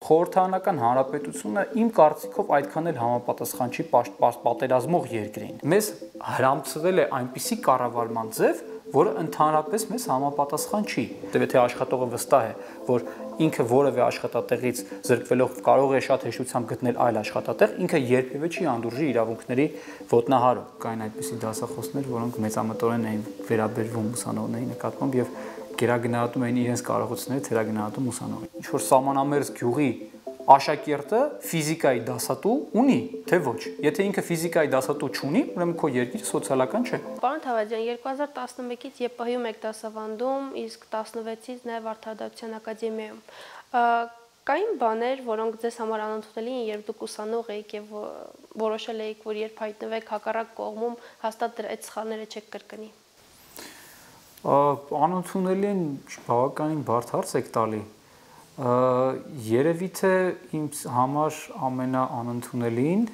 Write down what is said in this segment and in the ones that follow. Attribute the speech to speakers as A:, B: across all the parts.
A: Խորհրդարանական հանրապետությունը իմ կարծիքով այդքան էլ համապատասխան չի պատերազմող երկրին։ Մեզ հրամցվել է այնպիսի կառավարման ձև, որը ընդհանրապես մեզ համապատասխան չի։ Եթե աշխատողը վստահ է, որ ինքը որևէ աշխատատեղից զրկվելով կարող է շատ հեշտությամբ գտնել այլ աշխատատեղ, ինքը երբևէ չի անդուրժի իրավունքների ոտնահարում։ Կային այդպիսի դասախոսներ, որոնք մեծամտորեն էին վերաբերվում ուսանողների նկատմամբ եւ գերագնահատում էին իրենց կարողությունները թերագնահատում ուսանողին։ Ինչ որ սահմանամերձ գյուղի աշակերտը ֆիզիկայի դասատու ունի, թե ոչ։ Եթե ինքը ֆիզիկայի դասատու չունի, ուրեմն քո երկիրը սոցիալական չէ։
B: Պարոն Թավադյան, 2011-ից ԵՊՀ-ում եք դասավանդում, իսկ 16-ից նաև Արդարադատության ակադեմիայում։ Կային բաներ, որոնք ձեզ համար անընդունելի են, երբ դուք ուսանող էիք եւ որոշել էիք, որ երբ հայտնվեք հակառակ կողմում, հաստատ այդ սխալները չեք կրկնի։
A: Անընդունելի են, բավականին բարդ հարց եք տալի։ Երևի թե իմ համար ամենաանընդունելին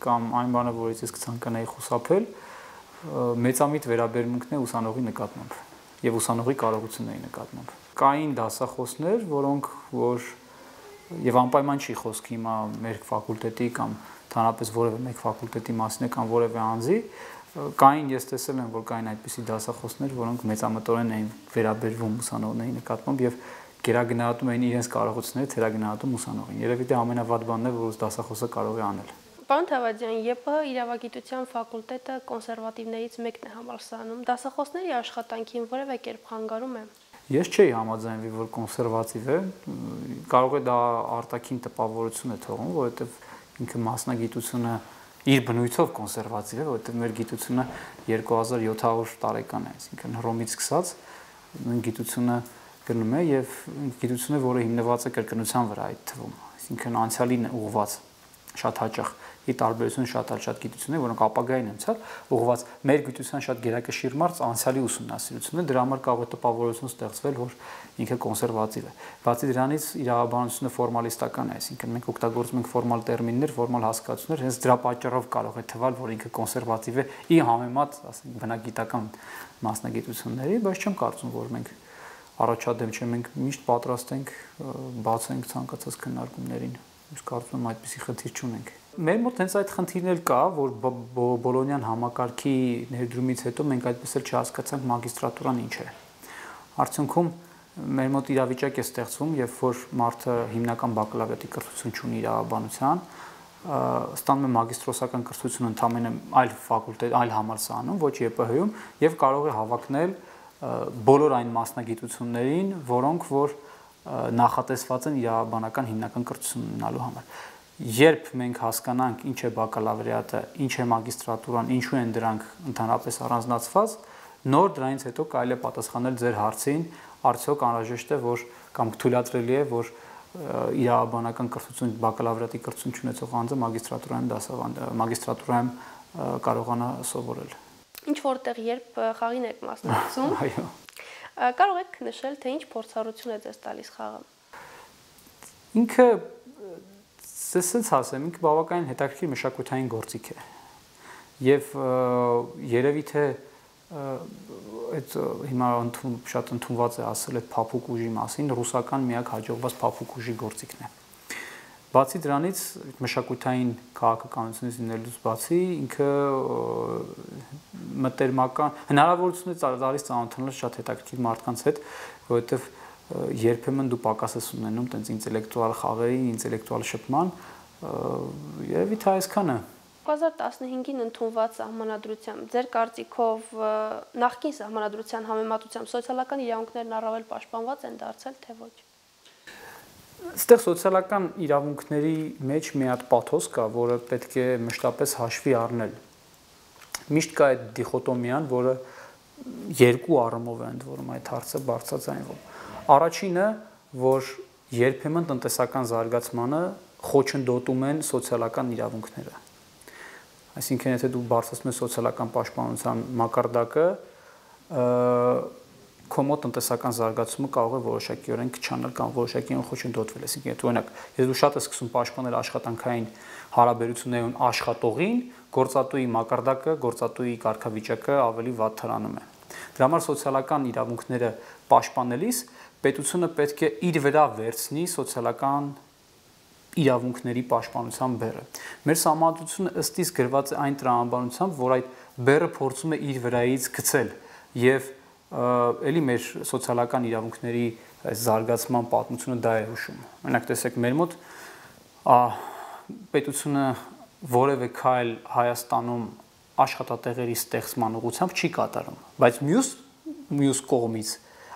A: կամ այն բանը, որից ես կցանկանայի խուսափել, մեծամիտ վերաբերմունքն է ուսանողի նկատմամբ եւ ուսանողի կարողությունների նկատմամբ։ Կային դասախոսներ, որոնք եւ անպայման չի խոսք հիմա մեր ֆակուլտետի կամ ընդհանրապես որևէ մեկ ֆակուլտետի մասին կամ որևէ անձի, կային ես տեսել եմ, որ կային այդպիսի դասախոսներ, որոնք մեծամտորեն էին վերաբերվում ուսանողների նկատմամբ եւ գերագնահատում էին իրենց կարողությունները թերագնահատում ուսանողին։ Երևի թե ամենավատ բանն է, որ դասախոսը կարող է անել։
B: Պարոն Թավադյան, ԵՊՀ իրավագիտության ֆակուլտետը կոնսերվատիվներից մեկն է համալսարանում։ Դասախոսների աշխատանքին որևէ կերպ խանգարում է։
A: Ես չէի համաձայնվի, որ կոնսերվատիվ է, կարող է դա արտաքին տպավորություն է թողում, որովհետև ինքը մասնագիտությունը իր բնույթով կոնսերվատիվ է, որովհետև մեր գիտությունը 2700 տարեկան է, այսինքն Հռոմից սկսած գիտությունը գնում է եւ գիտությունը, որը հիմնված է կրկնության վրա այդ թվում, այսինքն անցյալին ուղղված շատ հաճախ ի տարբերություն շատ գիտություններ, որոնք ապագային են ցած, ուղղված մեր գիտության շատ գերակշիռ մարդ անցյալի ուսումնասիրությունն է, դրա համար կարող է տպավորություն ստեղծվել, որ ինքը կոնսերվատիվ է։ Բացի դրանից իրավաբանությունը ֆորմալիստական է, այսինքն մենք օգտագործում ենք ֆորմալ տերմիններ, ֆորմալ հասկացություններ, հենց դրա պատճառով կարող է թվալ, որ ինքը կոնսերվատիվ է ի համեմատ, ասենք, բնագիտական մասնագիտությունների, բայց չեմ կարծում, որ մենք առաջադեմ չենք, մենք միշտ պատրաստ ենք բացենք ցանկացած քննարկումներին։ Ես կարծում եմ այդպիսի խնդիր չունենք։ Մեր մոտ հենց այդ խնդիրն էլ կա, որ Բոլոնյան համակարգի ներդրումից հետո մենք այդպես էլ չհասկացանք մագիստրատուրան ինչ է։ Արդյունքում մեր մոտ իրավիճակ է ստեղծվում, երբ որ մարդը հիմնական բակալավրիատի կրթություն չունի իրավաբանության, ստանում է մագիստրոսական կրթություն ընդամենը այլ ֆակուլտետ, այլ համալսարանում, ոչ ԵՊՀ-ում, եւ կարող է հավակնել բոլոր այն մասնագիտություններին, որոնք որ նախատեսված են իրավաբանական հիմնական կրթություն ունենալու համար։ Երբ մենք հասկանանք ինչ է բակալավրիատը, ինչ է մագիստրատուրան, ինչու են դրանք ընդհանրապես առանձնացված, նոր դրանից հետո կարելի է պատասխանել ձեր հարցին, արդյոք անհրաժեշտ է, որ կամ թույլատրելի է, որ իրավաբանական կրթություն, բակալավրիատի կրթություն ունեցող անձը մագիստրատուրայում կարողանա սովորել։
B: Ինչ որտեղ երբ խաղին եք մասնակցում։
A: Այո։
B: Կարող եք նշել, թե ինչ փորձառություն է ձեզ տալիս խաղը։
A: Ինքը Սենց ասեմ, ինքը բավականին հետաքրքիր մշակութային գործիք է։ Եվ երևի թե այդ հիմա շատ ընդունված է ասել այդ փափուկ ուժի մասին, ռուսական միակ հաջողված փափուկ ուժի գործիքն է։ Բացի դրանից մշակութային քաղաքականությունից լինելուց բացի ինքը մտերմական հնարավորություն է տալիս ծանոթանալ շատ հետաքրքիր մարդկանց հետ, որովհետև երբեմն դու պակաս ես ունենում տենց ինտելեկտուալ խաղերի, ինտելեկտուալ շփման, երևի թե այսքանը։
B: 2015-ին ընդունված սահմանադրությամբ ձեր կարծիքով նախկին սահմանադրության համեմատությամբ սոցիալական իրավունքներն առավել պաշտպանված են դարձել, թե ոչ։
A: Այստեղ սոցիալական իրավունքների մեջ մի հատ պաթոս կա, որը պետք է մշտապես հաշվի առնել։ Միշտ կա այդ դիխոտոմիան, որը երկու առումով է ընդ որում այդ հարցը բարձրաձայնվում։ Առաջինը, որ երբեմն տնտեսական զարգացմանը խոչընդոտում են սոցիալական իրավունքները։ Այսինքն, եթե դու բարձրացնում ես սոցիալական պաշտպանության մակարդակը, քո մոտ տնտեսական զարգացումը կարող է որոշակիորեն քչանալ կամ որոշակիորեն խոչընդոտվել։ Այսինքն, եթե օրինակ, եթե դու շատ ես սկսում պաշտպանել աշխատանքային հարաբերություններում աշխատողին, գործատուի մակարդակը, գործատուի կարգավիճակը ավելի վատ թռանում է։ Դրա համար սոցիալական իրավունքները պաշտպանելիս պետությունը պետք է իր վրա վերցնի սոցիալական իրավունքների պաշտպանության բեռը։ Մեր սահմանադրությունը ըստ իս գրված է այն տրամաբանությամբ, որ այդ բեռը փորձում է իր վրայից գցել եւ էլի մեր սոցիալական իրավունքների զարգացման պատմությունը դա է հուշում։ Օրինակ տեսեք, մեր մոտ պետությունը որևէ քայլ Հայաստանում աշխատատեղերի ստեղծման ուղղությամբ չի կատարում, բայց մյուս կողմից,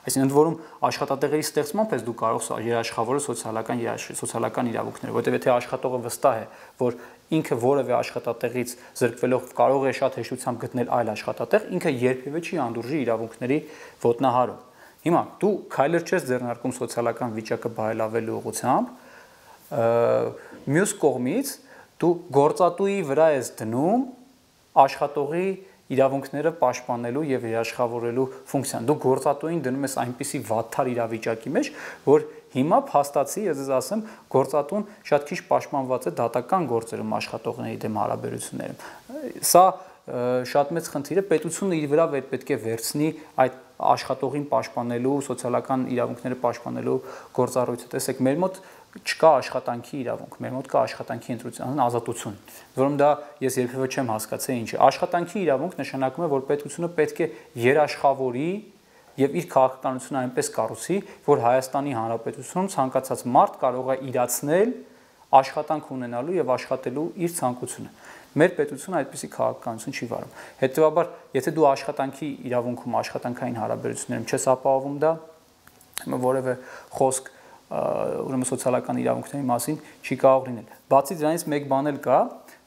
A: այսինքն ընդ որում աշխատատեղերի ստեղծմամբ ես դու կարող երաշխավորել սոցիալական իրավունքները, որտեղ եթե աշխատողը վստահ է, որ ինքը որևէ աշխատատեղից զրկվելով կարող է շատ հեշտությամբ գտնել այլ աշխատատեղ, ինքը երբևէ չի անդուրժի իրավունքների ոտնահարում։ Հիմա դու քայլեր չես ձեռնարկում սոցիալական վիճակը բարելավելու ուղղությամբ, մյուս կողմից դու գործատուի վրա ես դնում աշխատողի իրավունքները պաշտպանելու եւ երաշխավորելու ֆունկցիան։ Դու գործատուին դնում ես այնպիսի վատթար իրավիճակի մեջ, որ հիմա փաստացի, ես ձեզ ասեմ, գործատուն շատ քիչ պաշտպանված է դատական գործերում աշխատողների դեմ հարաբերություններում։ Սա շատ մեծ խնդիր է, պետությունը իր վրա պետք է վերցնի այդ աշխատողին պաշտպանելու, սոցիալական իրավունքները պաշտպանելու գործառույթը։ Տեսեք, մեր մոտ չկա աշխատանքի իրավունք, մեր մոտ կա աշխատանքի ընտրության ազատություն, որում դա ես երբևէ չեմ հասկացել ինչ է։ Աշխատանքի իրավունք նշանակում է, որ պետությունը պետք է երաշխավորի եւ իր քաղաքականությունը այնպես կառուցի, որ Հայաստանի Հանրապետությունում ցանկացած մարդ կարող է իրացնել աշխատանք ունենալու եւ աշխատելու իր ցանկությունը։ Մեր պետությունը այդպիսի քաղաքականություն չի վարում։ Հետեւաբար, եթե դու աշխատանքի իրավունքում, աշխատանքային հարաբերություններում չես ապահովում դա, որևէ խոսք ուրեմն սոցիալական իրավունքների մասին չի կարող լինել։ Բացի դրանից մեկ բան էլ կա,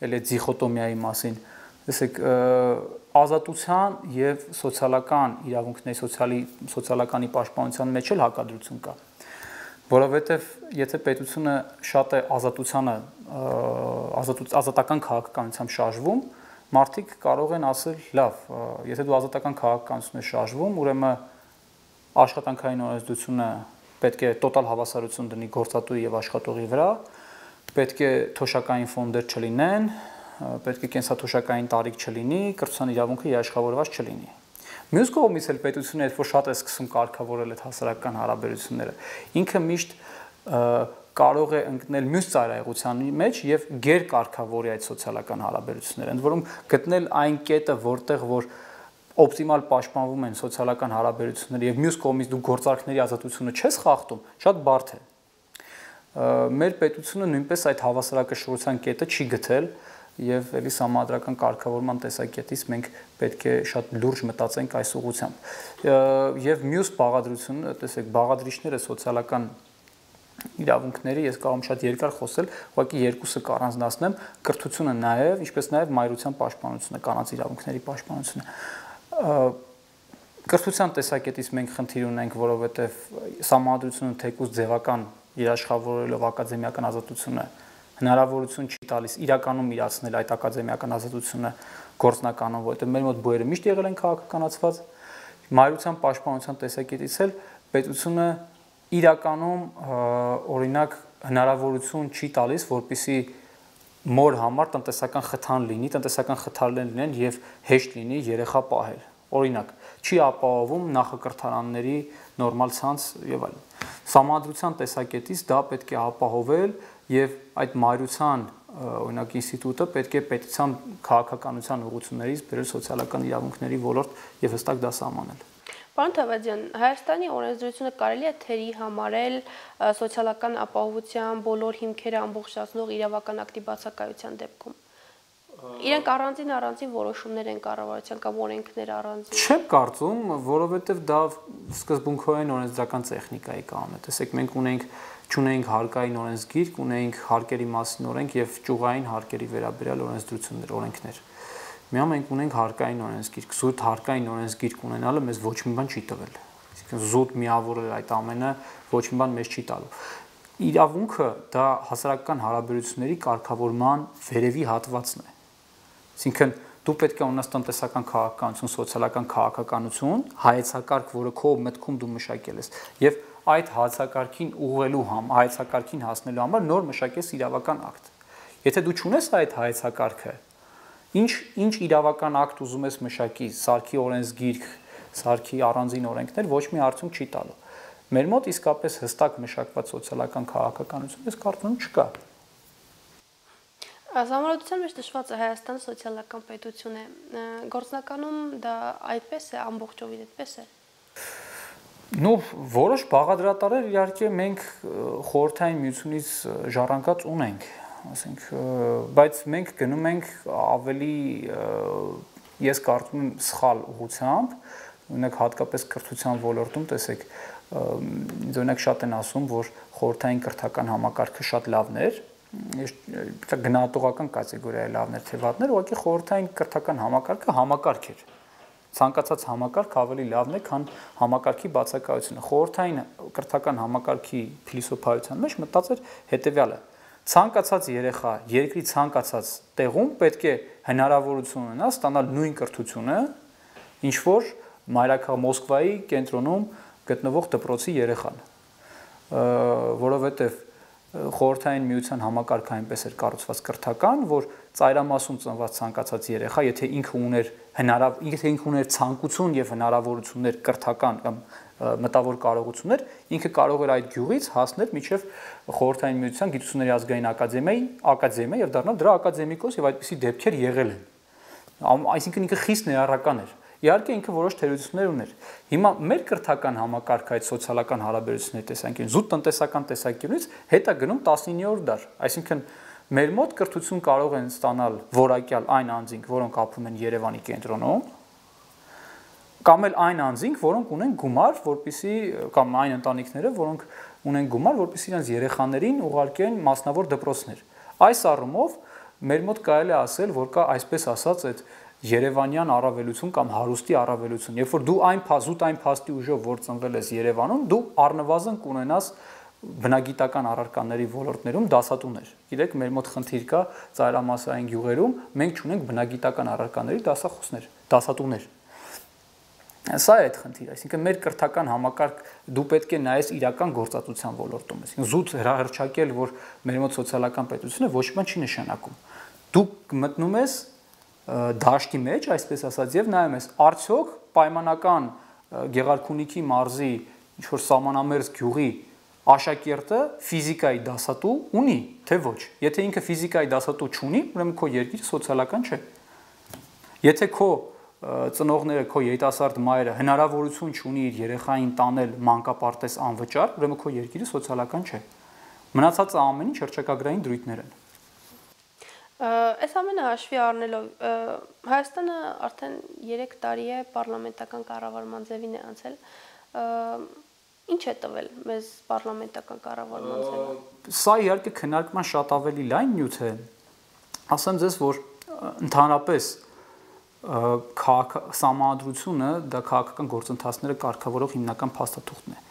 A: էլ է դիխոտոմիայի մասին։ Տեսեք, ազատության եւ սոցիալական իրավունքների սոցիալականի պաշտպանության մեջ էլ հակադրություն կա։ Որովհետեւ եթե պետությունը շատ է ազատական քաղաքականությամբ շարժվում, մարդիկ կարող են ասել, լավ, եթե դու ազատական քաղաքականություն ես շարժվում, ուրեմն աշխատանքային օրենսդրությունը պետք է տոտալ հավասարություն դնի գործատուի եւ աշխատողի վրա, պետք է թոշակային ֆոնդեր չլինեն, պետք է կենսաթոշակային տարիք չլինի, կրթության իրավունքը երաշխավորված չլինի։ Մյուս կողմից էլ պետությունը երբ որ շատ է սկսում կարգավորել այդ հասարակական հարաբերությունները, ինքը միշտ կարող է ընկնել մյուս ծայրահեղության մեջ եւ գերկարգավորի այդ սոցիալական հարաբերությունները, ընդ որում գտնել այն կետը, որտեղ որ օպտիմալ պաշտպանվում են սոցիալական հարաբերությունները եւ մյուս կողմից դու գործարքների ազատությունը չես խախտում, շատ բարդ է։ Մեր պետությունը նույնպես այդ հավասարակշռության կետը չի գտել եւ ելի համադրական կարգավորման տեսակետից մենք պետք է շատ լուրջ մտածենք այս ուղղությամբ։ Եվ մյուս բաղադրությունը, տեսեք, բաղադրիչները սոցիալական իրավունքների ես կարող եմ շատ երկար խոսել, ուղղակի երկուսը կառանձնացնեմ, կրթությունը նաեւ, ինչպես նաեւ մայրության պաշտպանությունը, կանանց իրավունքների պաշտպանությունը։ Կրթության տեսակետից մենք խնդիր ունենք, որովհետեւ համադրությունը թեկուզ ձևական երաշխավորելով ակադեմիական ազատությունը հնարավորություն չի տալիս իրականում իրացնել այդ ակադեմիական ազատությունը գործնականով, որովհետեւ մեր մոտ բույրը միշտ եղել են քաղաքականացված, մայրության պաշտպանության տեսակետից էլ պետությունը իրականում օրինակ հնարավորություն չի տալիս, որպեսզի մոր համար տնտեսական խթան լինի, տնտեսական խթաններ լինեն եւ հեշտ լինի երեխա պահել։ Օրինակ, չի ապահովում նախակրթարանների նորմալ ցանց եւ այլն։ Համադրության տեսակետից դա պետք է ապահովել եւ այդ մայրության օրինակ ինստիտուտը պետք է պետության քաղաքականության ուղղություններից բերել սոցիալական իրավունքների ոլորտ եւ հստակ դա սահմանել։
B: Պարոն Թավադյան, Հայաստանի օրենսդրությունը կարելի է թերի համարել սոցիալական ապահովության բոլոր հիմքերը ամբողջացնող իրավական ակտի բացակայության դեպքում։ Իրենք առանձին որոշումներ են կառավարության կամ օրենքներ առանձին։
A: Չեմ կարծում, որովհետև դա սկզբունքորեն օրենսդրական տեխնիկայի կանոն է։ Տեսեք, մենք չունենք հարկային օրենսգիրք, ունենք հարկերի մասին օրենք եւ ճյուղային հարկերի վերաբերյալ օրենսդրություններ, օրենքներ։ Միայն մենք ունենք հարկային օրենսգիրք, զուտ հարկային օրենսգիրք ունենալը մեզ ոչ մի բան չի տվել։ Այսինքն զուտ միավորել այդ ամենը ոչ մի բան մեզ չի տալու։ Իրավունքը դա հասարակական հարաբերությունների կարգավորման վերևի հատվածն է։ Այսինքն դու պետք է ունենաս տնտեսական քաղաքականություն, սոցիալական քաղաքականություն, հայեցակարգ, որը քո մտքում դու մշակել ես, եւ այդ հայեցակարգին ուղղելու հայեցակարգին հասնելու համար նոր մշակես իրավական ակտ։ Եթե դու չունես այդ հայեցակարգը, ինչ իրավական ակտ ուզում ես մշակի, սարքի օրենսգիրք, սարքի առանձին օրենքներ, ոչ մի արդյունք չի տալու։ Մեր մոտ իսկապես հստակ մշակված սոցիալական քաղաքականություն ես կարծում չկա։
B: Համառոդության մեջ նշված է Հայաստանը սոցիալական պետություն է։ Գործնականում դա այդպես է, ամբողջովին այդպես է։
A: Որոշ բաղադրատարներ իհարկե մենք խորհրդային միությունից ժառանգած ունենք, ասենք, բայց մենք գնում ենք ավելի, ես կարծում եմ, սխալ ուղղությամբ, օրինակ հատկապես կրթության ոլորտում, տեսեք, օրինակ շատ են ասում, որ խորհրդային կրթական համակարգը շատ լավն էր, գնահատողական կատեգորիայի լավներ թե վատներ, ուղղակի խորհրդային կրթական համակարգը համակարգ էր։ Ցանկացած համակարգ ավելի լավն է, քան համակարգի բացակայությունը։ Խորհրդային կրթական համակարգի փիլիսոփայության մեջ մտածել հետևյալը. ցանկացած երեխա երկրի ցանկացած տեղում պետք է հնարավորություն ունենա ստանալ նույն կրթությունը, ինչ որ մայրաքաղաք Մոսկվայի կենտրոնում գտնվող դպրոցի երեխան, որովհետև խորհրդային միության համակարգը այնպես էր կառուցված կրթական, որ ծայրամասում ծնված ցանկացած երեխա, եթե ինքը ուներ ցանկություն եւ հնարավորություններ կրթական կամ մտավոր կարողություններ, ինքը կարող էր այդ գյուղից հասնել մինչև խորհրդային միության գիտությունների ազգային ակադեմիա եւ դառնալ դրա ակադեմիկոս եւ այդպիսի դեպքեր եղել են։ Այսինքն ինքը խիստ ներառական էր։ Իհարկե ինքը որոշ թերություններ ուներ։ Հիմա մեր կրթական համակարգը այդ սոցիալական հարաբերությունների տեսանկյունից, զուտ տնտեսական տեսանկյունից հետ է գնում 19-րդ դար։ Այսինքն մեր մոտ կրթություն կարող են ստանալ որակյալ այն անձինք, որոնք ապրում են Երևանի կենտրոնում, կամ էլ այն անձինք, որոնք ունեն գումար, որպեսզի կամ այն ընտանիքները, որոնք ունեն գումար, որպեսզի իրենց երեխաներին ուղարկեն մասնավոր դպրոցներ։ Այս առումով մեր մոտ կարելի է ասել, որ կա այսպես ասած այդ Երևանյան առավելություն կամ հարուստի առավելություն, երբ որ դու այն փաստի ուժով, որ ծնվել ես Երևանում, դու առնվազն կունենաս բնագիտական առարկաների ոլորտներում դասատուներ։ Գիտեք, մեր մոտ խնդիր կա ծայրամասային գյուղերում, մենք չունենք բնագիտական առարկաների դասատուներ։ Սա է այդ խնդիրը, այսինքն մեր կրթական համակարգ դու պետք է նայես իրական գործածության ոլորտում, այսինքն զուտ հրահրճակել, որ մեր մոտ սոցիալական պետություն է, ոչ մի բան չի նշանակում։ Դու մտնում ես դաշտի մեջ, այսպես ասած, եւ նայում ես, արդյոք պայմանական Գեղարքունիքի մարզի ինչ-որ սահմանամերձ գյուղի աշակերտը ֆիզիկայի դասատու ունի, թե ոչ։ Եթե ինքը ֆիզիկայի դասատու չունի, ուրեմն քո երկիրը սոցիալական չէ։ Եթե քո ծնողները, քո երիտասարդ մայրը հնարավորություն չունի իր երեխային տանել մանկապարտեզ անվճար, ուրեմն քո երկիրը սոցիալական չէ։ Մնացածը ամեն ինչ հռչակագրային դրույթներ են։
B: Այս ամենը հաշվի առնելով Հայաստանը արդեն 3 տարի է պարլամենտական կառավարման ձևին է անցել։ Ինչ է տվել մեզ պարլամենտական կառավարման ձևը։
A: Սա իհարկե քննարկման շատ ավելի լայն նյութ է։ Ասեմ ձեզ, որ ընդհանրապես սահմանադրությունը դա քաղաքական գործընթացները կարգավորող հիմնական փաստաթուղթն է։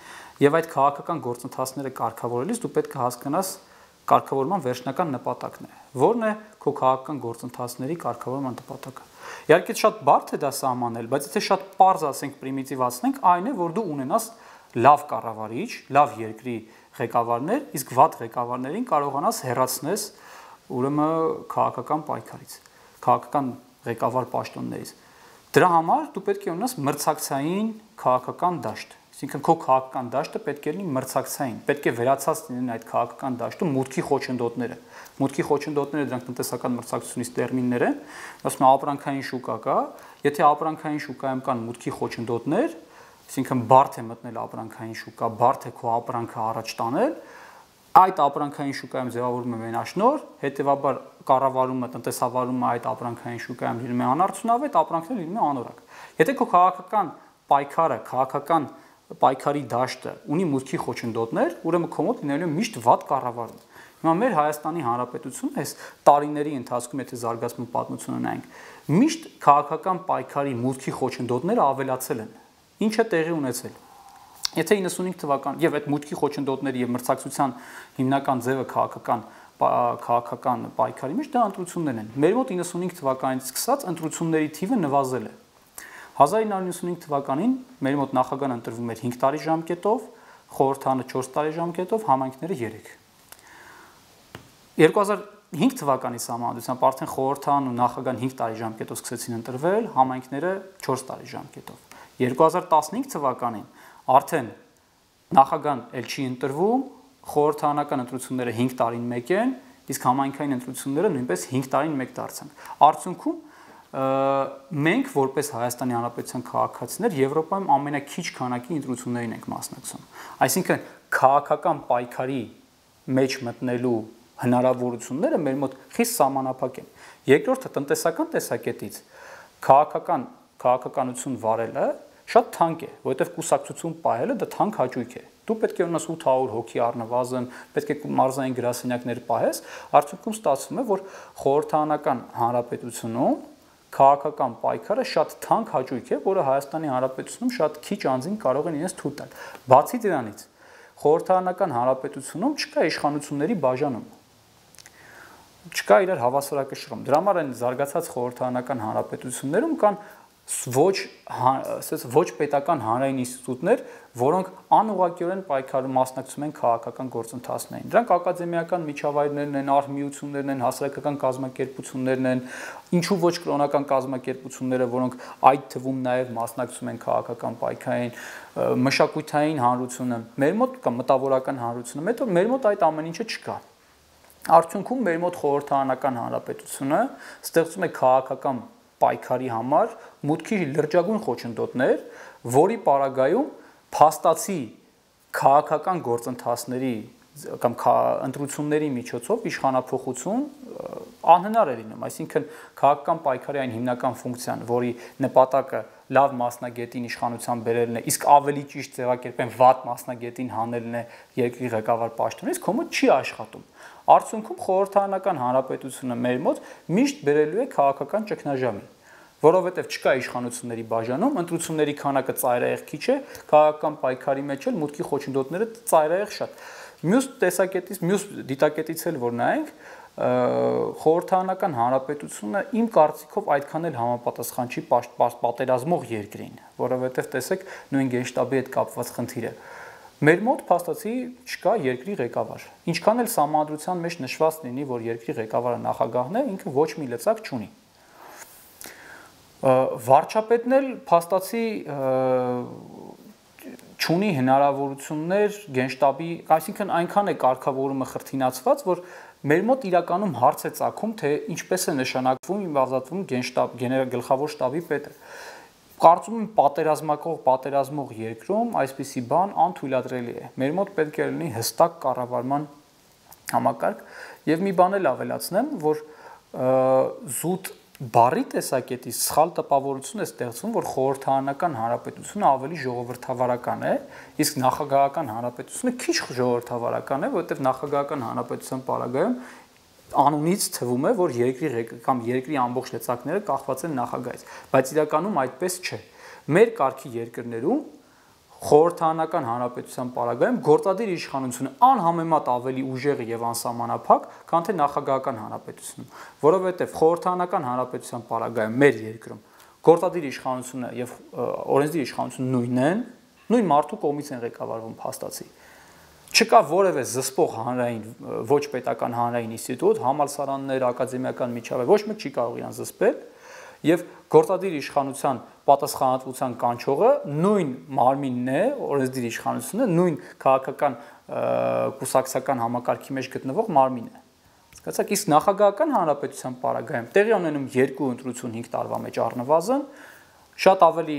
A: Եվ այդ քաղաքական գործընթացները կարգավորելիս դու պետք է հասկանաս կարգավորման վերջնական նպատակն է։ Որն է քո քաղաքական գործընթացների կարգավորման նպատակը։ Իհարկե շատ բարդ է դա սահմանել, բայց եթե շատ պարզ ասենք պրիմիտիվացնենք, այն է, որ դու ունենաս լավ կառավարիչ, լավ երկրի ղեկավարներ, իսկ վատ ղեկավարներին կարողանաս հեռացնես ուրեմն քաղաքական պայքարից, քաղաքական ղեկավար պաշտոններից։ Դրա համար դու պետք է ունենաս մրցակցային քաղաքական դաշտ։ Այսինքն քո քաղաքական դաշտը պետք է լինի մրցակցային, պետք է վերացած լինեն այդ քաղաքական դաշտում մուտքի խոչընդոտները։ Մուտքի խոչընդոտները դրանք տնտեսական մրցակցությունից տերմիններ են, ասում են ապրանքային շուկա կա, եթե ապրանքային շուկայում կան մուտքի խոչընդոտներ, այսինքն բարդ է մտնել ապրանքային շուկա, բարդ է քո ապրանքը առաջ տանել, այդ ապրանքային շուկայում ձևավորվում է մենաշնոր, հետևաբար կառավարումը, տնտեսավարումը այդ ապրանքային շուկայում լինում է անարդյունավետ, ապրանքները լինում է անորակ։ Եթե քո քաղաքական պայքարը, քաղաքական պայքարի դաշտը ունի մուտքի խոչընդոտներ, ուրեմն քո մոտ լինելու է միշտ վատ կառավարում։ Հիմա մեր Հայաստանի Հանրապետությունն այս տարիների ընթացքում, եթե զարգացման պատմությունը նայենք, միշտ քաղաքական պայքարի մուտքի խոչընդոտները ավելացել են։ Ինչ է տեղի ունեցել։ Եթե 95 թվական եւ այդ մուտքի խոչընդոտների եւ մրցակցության հիմնական ձևը քաղաքական պայքարի մեջ դա ընտրություններն են։ Մեր մոտ 95 թվականից սկսած ընտրությունների թիվը նվազել է։ 1995 թվականին մեր մոտ նախագահն ընտրվում էր 5 տարի ժամկետով, խորհրդանը 4 տարի ժամկետով, համայնքները 3։ 2005 թվականի սահմանադրությամբ արդեն խորհրդան ու նախագահն 5 տարի ժամկետով սկսեցին ընտրվել, համայնքները 4 տարի ժամկետով։ 2015 թվականին արդեն նախագահն էլ չի ընտրվում, խորհրդարանական ընտրությունները 5 տարին մեկ են իսկ համայնքային ընտրությունները նույնպես 5 տարին մեկ դարձան։ Արդյունքում մենք որպես Հայաստանի Հանրապետության քաղաքացիներ Եվրոպայում ամենաքիչ քանակի ընտրություններին ենք մասնակցում։ Այսինքն քաղաքական պայքարի մեջ մտնելու հնարավորությունները մեր մոտ խիստ սահմանափակ են։ Երկրորդը տնտեսական տեսակետից քաղաքականություն վարելը շատ թանկ է, որովհետև կուսակցություն պահելը դա թանկ հաճույք է։ Դու պետք է ունենաս 800 հոգի առնվազն, պետք է մարզային գրասենյակներ պահես, արդյունքում ստացվում է, որ խորհրդարանական հանրապետությունում քաղաքական պայքարը շատ թանկ հաճույք է, որը Հայաստանի Հանրապետությունում շատ քիչ անձին կարող են իրենց թույլ տալ։ Բացի դրանից, խորհրդարանական հանրապետությունում չկա իշխանությունների բաժանում։ Չկա իրար հավասարակշռում։ Դրա համար են զարգացած խորհրդարանական հանրապետություններում կան ոչ պետական հանրային ինստիտուտներ, որոնք անուղղակիորեն պայքարում մասնակցում են քաղաքական գործընթացներին։ Դրանք ակադեմիական միջավայրներն են, արհմիություններն են, հասարակական կազմակերպություններն են, ինչու ոչ կրոնական կազմակերպությունները, որոնք այդ թվում նաև մասնակցում են քաղաքական պայքարին, մշակութային հանրությունը, մեր մոտ կա մտավորական հանրությունը, մեր մոտ այդ ամեն ինչը չկա։ Արդյունքում մեր մոտ խորհրդարանական հանրապետությունը ստեղծում է քաղաքական պայքարի համար մուտքի լրջագույն խոչընդոտներ, որի պարագայում փաստացի քաղաքական գործընթացների կամ ընտրությունների միջոցով իշխանափոխություն անհնար է լինում, այսինքն քաղաքական պայքարի այն հիմնական ֆունկցիան, որի նպատակը լավ մասնագետին իշխանության բերելն է, իսկ ավելի ճիշտ ձևակերպեն վատ մասնագետին հանելն է երկրի ղեկավար պաշտոնից, քո մոտ չի աշխատում։ Արդյունքում խորհրդարանական հանրապետությունը մեր մոտ միշտ բերելու է քաղաքական ճգնաժամի, որովհետև չկա իշխանությունների բաժանում, ընտրությունների քանակը ծայրահեղ քիչ է, քաղաքական պայքարի մեջ էլ մուտքի խոչընդոտները ծայրահեղ շատ։ Մյուս տեսակետից, մյուս դիտակետից էլ որ նայենք, խորհրդարանական հանրապետությունը իմ կարծիքով այդքան էլ համապատասխան չի պատերազմող երկրին, որովհետև տեսեք նույն գենշտաբի հետ կապված խնդիրը։ Մեր մոտ փաստացի չկա երկրի ղեկավար։ Ինչքան էլ սահմանադրության մեջ նշված լինի, որ երկրի ղեկավարը նախագահն է, ինքը ոչ մի լծակ չունի։ Վարչապետն էլ փաստացի չունի հնարավորություններ գենշտաբի, այսինքն այնքան է կարգավորումը խրթինացված, որ մեր մոտ իրականում հարց է ծագում, թե ինչպես է նշանակվում եւ ազատվում գլխավոր շտաբի պետը։ Կարծում եմ պատերազմող երկրում այսպիսի բան անթույլատրելի է։ Մեր մոտ պետք է լինի հստակ կառավարման համակարգ եւ մի բան էլ ավելացնեմ, որ զուտ բառի տեսակետից սխալ տպավորություն է ստեղծվում, որ խորհրդարանական հանրապետությունը ավելի ժողովրդավարական է, իսկ նախագահական հանրապետությունը քիչ ժողովրդավարական է, որովհետեւ նախագահական հանրապետության պարագայում անունից թվում է, որ երկրի ամբողջ լծակները կախված են նախագահից, բայց իրականում այդպես չէ։ Մեր կարգի երկրներում խորհրդարանական հանրապետության պարագայում գործադիր իշխանությունը անհամեմատ ավելի ուժեղ եւ անսահմանափակ, քան թե նախագահական հանրապետությունում, որովհետեւ խորհրդարանական հանրապետության պարագայում մեր երկրում գործադիր իշխանությունը եւ օրենսդիր իշխանությունը նույնն են, նույն մարդու կողմից են ղեկավարվում փաստացի։ Չկա որևէ զսպող հանրային, ոչ պետական հանրային ինստիտուտ, համալսարաններ, ակադեմիական միջավայր, ոչ մեկ չի կարող իրան զսպել, եւ գործադիր իշխանության պատասխանատվության կանչողը նույն մարմինն է, օրենսդիր իշխանությունը, նույն քաղաքական կուսակցական համակարգի մեջ գտնվող մարմինն է։ Հասկացաք, իսկ նախագահական հանրապետության պարագայում տեղի ունենում երկու ընտրություն 5 տարվա մեջ առնվազն, շատ ավելի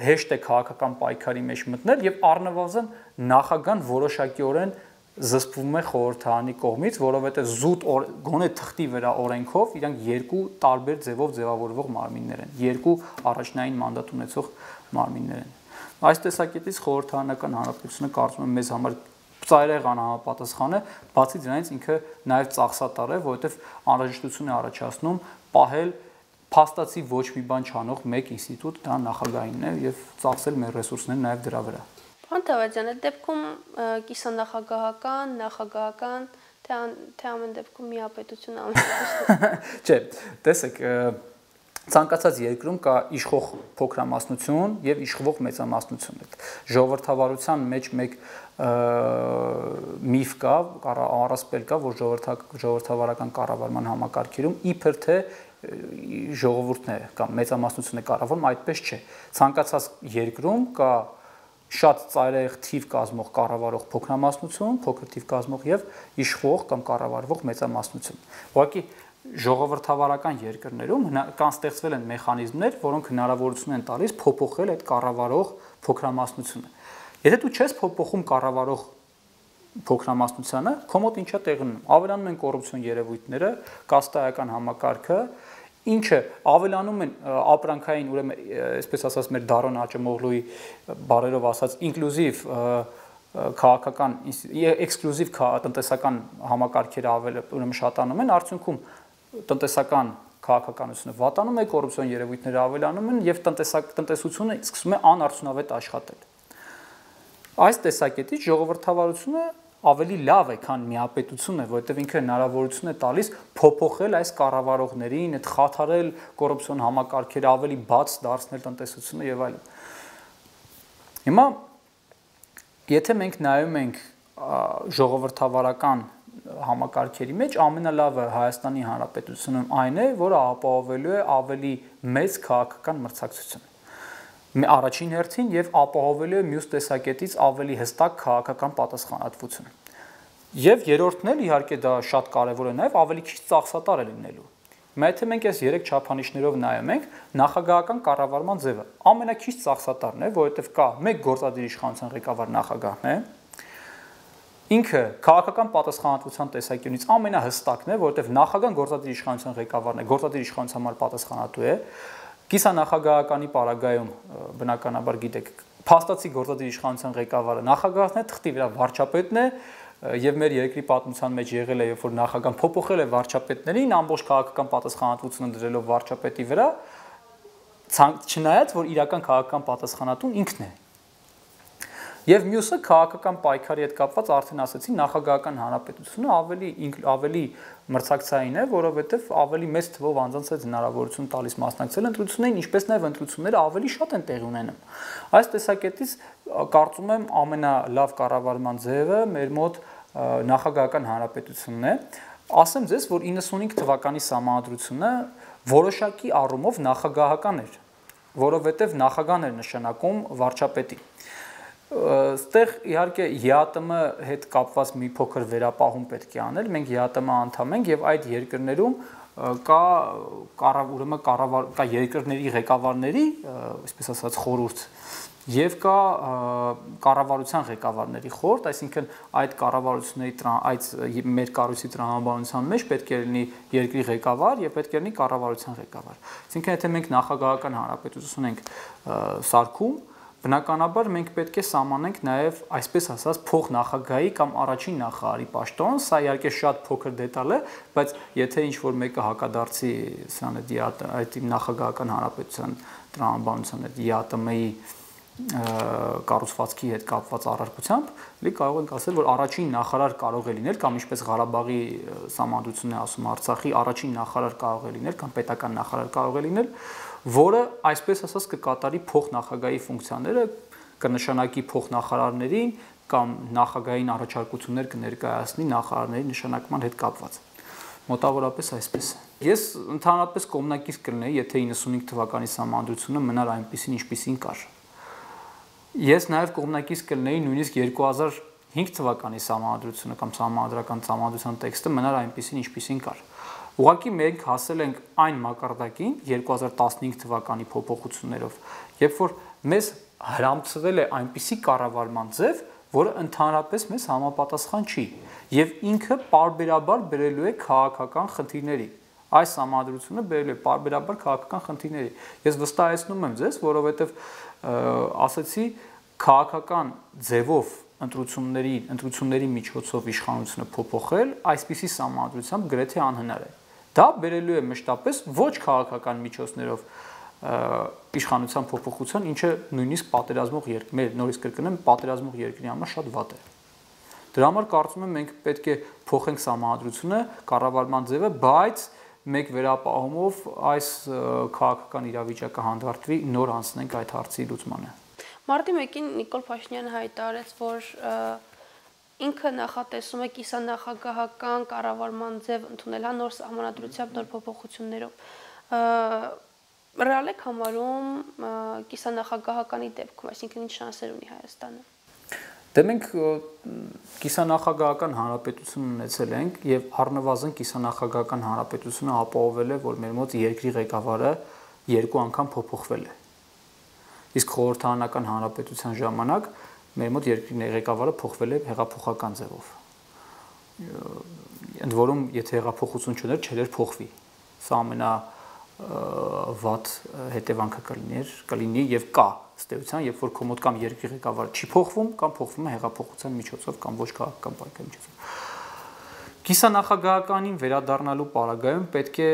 A: հեշտ է քաղաքական պայքարի մեջ մտնել եւ առնվազն նախագահան որոշակիորեն զսպվում է խորհրդարանի կողմից, որովհետեւ զուտ գոնե թղթի վրա օրենքով իրանք երկու տարբեր ձևով ձևավորվող մարմիններ են, երկու առաջնային մանդատ ունեցող մարմիններ են։ Այս տեսակետից խորհրդարանական հանրապետությունը կարծում եմ մեզ համար ծայրահեղ անհամապատասխան է, բացի դրանից ինքը նաեւ ծախսատար է, որովհետեւ անհրաժեշտություն է առաջացնում պահել փաստացի ոչ մի բան չանող մեկ ինստիտուտ, դա նախագահինն է եւ ծախսել մեր ռեսուրսները նաեւ դրա վրա։
B: Պարոն Թավադյան, այդ դեպքում կիսանախագահական, նախագահական, թե ամեն դեպքում միապետություն ամենաշատը։
A: Չէ, տեսեք, ցանկացած երկրում կա իշխող փոքրամասնություն եւ իշխող մեծամասնություն։ Ժողովրդավարության մեջ մեկ միֆ կա, առասպել կա, որ ժողովրդավարական կառավարման համակարգերում իբր թե ժողովուրդն է կամ մեծամասնությունը կառավարում, այդպես չէ։ Ցանկացած երկրում կա շատ ծայրահեղ թիվ կազմող կառավարող փոքրամասնություն, փոքր թիվ կազմող եւ իշխող կամ կառավարվող մեծամասնություն։ Ուղղակի ժողովրդավարական երկրներում կան ստեղծվել են մեխանիզմներ, որոնք հնարավորություն են տալիս փոփոխել այդ կառավարող փոքրամասնությունը։ Եթե դու չես փոփոխում կառավարող փոքրամասնությանը, քո մոտ ինչա տեղի ունենում։ Ավելանում են կոռուպցիոն երևույթները, կաստայական համակարգը, ինչը ավելանում են ապրանքային, ուրեմն, այսպես ասած, մեր Դարոն Աճեմօղլուի բարերով ասած, ինկլյուզիվ քաղաքական, էքսկլյուզիվ տնտեսական համակարգերը ուրեմն շատանում են, արդյունքում տնտեսական քաղաքականությունը վատանում է, կոռուպցիոն երևույթները ավելանում են եւ տնտեսությունը սկսում է անարդյունավետ աշխատել։ Այս տեսակետից ժողովրդավարությունը ավելի լավ է, քան միապետությունը, որովհետև ինքը հնարավորություն է տալիս փոփոխել այս կառավարողներին, այդ խաթարել կոռուպցիոն համակարգերը, ավելի բաց դարձնել տնտեսությունը եւ այլն։ Հիմա եթե մենք նայում ենք ժողովրդավարական համակարգերի մեջ, ամենալավը Հայաստանի Հանրապետությունում այն է, որը ապահովելու է ավելի մեծ քաղաքական մրցակցություն։ Առաջին հերթին եւ ապահովելու է մյուս տեսակետից ավելի հստակ քաղաքական պատասխանատվություն։ Եվ երրորդն էլ իհարկե դա շատ կարեւոր է նաեւ ավելի քիչ ծախսատար է լինելու։ Հիմա եթե մենք այս 3 չափանիշներով նայում ենք, նախագահական կառավարման ձևը ամենակիչ ծախսատարն է, որովհետեւ կա մեկ գործադիր իշխանության ղեկավար նախագահն է։ Ինքը քաղաքական պատասխանատվության տեսանկյունից ամենահստակն է, որովհետեւ նախագահան գործադիր իշխանության ղեկավարն է, գործադիր իշխանության համար պատասխանատու է։ Կիսանախագահականի պարագայում բնականաբար գիտեք, փաստացի գործադիր իշխանության ղեկավարը նախագահն է, թղթի վրա վարչապետն է, եւ մեր երկրի պատմության մեջ եղել է, երբ որ նախագահան փոփոխել է վարչապետներին, ամբողջ քաղաքական պատասխանատվությունը դրելով վարչապետի վրա, չնայած որ իրական քաղաքական պատասխանատուն ինքն է։ Եվ մյուսը քաղաքական պայքարի հետ կապված արդեն ասացի, նախագահական հանրապետությունը ավելի մրցակցային է, որովհետև ավելի մեծ թվով անձանց այդ հնարավորություն տալիս մասնակցել ընտրություններին, ինչպես նաև ընտրությունները ավելի շատ են տեղի ունենում։ Այս տեսակետից կարծում եմ ամենալավ կառավարման ձևը մեր մոտ նախագահական հանրապետությունն է։ Ասեմ ձեզ, որ 95 թվականի սահմանադրությունը որոշակի առումով նախագահական էր, որովհետև նախագահն էր նշանակում վարչապետի։ Ստեղ իհարկե ԵԱՏՄ հետ կապված մի փոքր վերապահում պետք է անել, մենք ԵԱՏՄ անդամ ենք եւ այդ երկրներում կա երկրների ղեկավարների, այսպես ասած, խորհուրդ եւ կա կառավարության ղեկավարների խորհուրդ, այսինքն այդ կառավարությունների այդ մեր կառույցի տրամաբանության մեջ պետք է լինի երկրի ղեկավար եւ պետք է լինի կառավարության ղեկավար։ Այսինքն եթե մենք նախագահական հանրապետություն ենք սարքում, բնականաբար մենք պետք է սահմանենք նաև այսպես ասած փոխնախագահի կամ առաջին նախարարի պաշտոն, սա իհարկե շատ փոքր դետալ է, բայց եթե ինչ-որ մեկը հակադարձի սրան այդ նախագահական հանրապետության տրամաբանության այդ ԵԱՏՄ-ի կառուցվածքի հետ կապված առարկությամբ, կարող ենք ասել, որ առաջին նախարար կարող է լինել կամ ինչպես Ղարաբաղի սահմանադրությունն է ասում Արցախի առաջին նախարար կարող է լինել կամ պետական նախարար կարող է լինել, որը այսպես ասած կկատարի փոխնախագահի ֆունկցիաները, կնշանակի փոխնախարարներին կամ նախագահային առաջարկություններ կներկայացնի նախարարների նշանակման հետ կապված։ Մոտավորապես այսպես է։ Ես ընդհանրապես կողմնակից կլինեի, եթե 95 թվականի սահմանադրությունը մնար այնպիսին, ինչպիսին կար։ Ես նաև կողմնակից կլինեի նույնիսկ 2005 թվականի սահմանադրությունը կամ սահմանադրական սահմանադրության տեքստը մնար այնպիսին, ինչպիսին կար։ Ուղղակի մենք հասել ենք այն մակարդակին 2015 թվականի փոփոխություններով, երբ որ մեզ հրամցվել է այնպիսի կառավարման ձև, որը ընդհանրապես մեզ համապատասխան չի, եւ ինքը պարբերաբար բերելու է քաղաքական խնդիրների։ Այս համադրությունը բերելու է պարբերաբար քաղաքական խնդիրների։ Ես վստահեցնում եմ ձեզ, որովհետեւ ասացի քաղաքական ձևով ընտրությունների միջոցով իշխանությունը փոփոխել այսպիսի համադրությամբ գրեթե անհնար է։ Դա բերելու է մշտապես ոչ քաղաքական միջոցներով իշխանության փոփոխության, ինչը նույնիսկ պատերազմող մեր նորից կրկնեմ, պատերազմող երկրի համար շատ վատ է։ Դրա համար կարծում եմ մենք պետք է փոխենք համադրությունը, կառավարման ձևը, բայց մեկ վերապահումով այս քաղաքական իրավիճակը հանդարտվի, նոր անցնենք այդ հարցի լուծմանը։
B: Մարտի 1-ին Նիկոլ Փաշինյանը հայտարարեց, որ ինքը նախատեսում է կիսանախագահական կառավարման ձև ընդունել նոր սահմանադրությամբ, նոր փոփոխություններով։ Ռեալ եք համարում կիսանախագահականի դեպքում, այսինքն ինչ շանսեր ունի Հայաստանը։
A: Դե մենք կիսանախագահական հանրապետություն ունեցել ենք եւ առնվազն կիսանախագահական հանրապետությունը ապահովել է, որ մեր մոտ երկրի ղեկավարը 2 անգամ փոփոխվել է։ Իսկ խորհրդարանական հանրապետության ժամանակ մեր մոտ երկրի ղեկավարը փոխվել է հեղափոխական ձևով։ Ընդ որում, եթե հեղափոխություն չուներ, չէր փոխվի։ Սա ամենավատ հետևանքը կլինի եւ կա ստեյության, երբ որ քո մոտ կամ երկրի ղեկավարը չի փոխվում, կամ փոխվում է հեղափոխության միջոցով կամ ոչ քաղաքական պայքարի միջոցով։ Կիսանախագահականին վերադառնալու պարագայում պետք է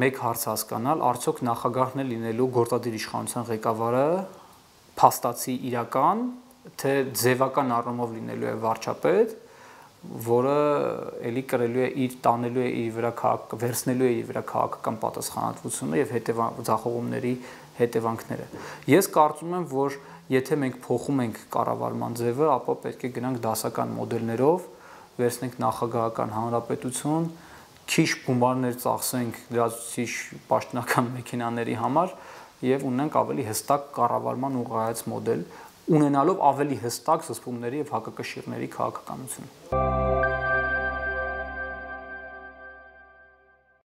A: մեկ հարց հասկանալ, արդյոք նախագահն է լինելու գործադիր իշխանության ղեկավարը փաստացի իրական, թե ձևական առումով լինելու է վարչապետ, որը էլի կրելու է իր տանելու է իր վրա վերցնելու է իր վրա քաղաքական պատասխանատվությունը եւ ձախողումների հետևանքները։ Ես կարծում եմ, որ եթե մենք փոխում ենք կառավարման ձևը, ապա պետք է գնանք դասական մոդելներով, վերցնենք նախագահական հանրապետություն, քիչ գումարներ ծախսենք լրացուցիչ պաշտոնական մեքենաների համար եւ ունենք ավելի հստակ կառավարման ուղղահայաց մոդել, ունենալով ավելի հստակ զսպումների եւ հակակշիռների քաղաքականություն։